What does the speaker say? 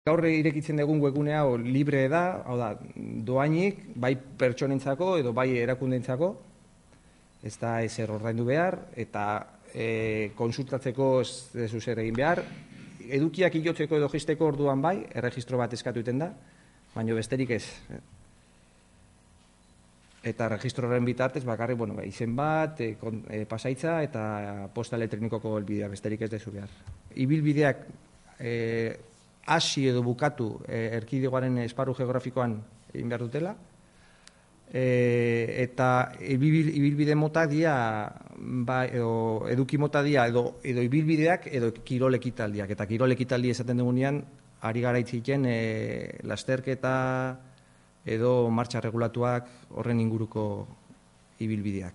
Gaur irekitzen dugun webgune hau libre da, hau da, doainik, bai pertsonentzako edo bai erakundeentzako, ez da ezer ordaindu behar, eta konsultatzeko ez dezu zer egin behar, edukiak ilotzeko edo jisteko orduan bai, erregistro bat eskatu egiten da, baina besterik ez. Eta registroren bitartez bakarrik, izen bat, pasaitza eta posta elektronikoko helbidea, besterik ez dezu behar. Ibilbideak hasi edo bukatu erkidegoaren esparru geografikoan egin behar dutela, eta ibilbide mota dia, edo eduki mota dia, edo ibilbideak edo kirol ekitaldiak. Eta kirol ekitaldi esaten dugunean, ari gara itziken lasterketa edo martxa regulatuak horren inguruko ibilbideak.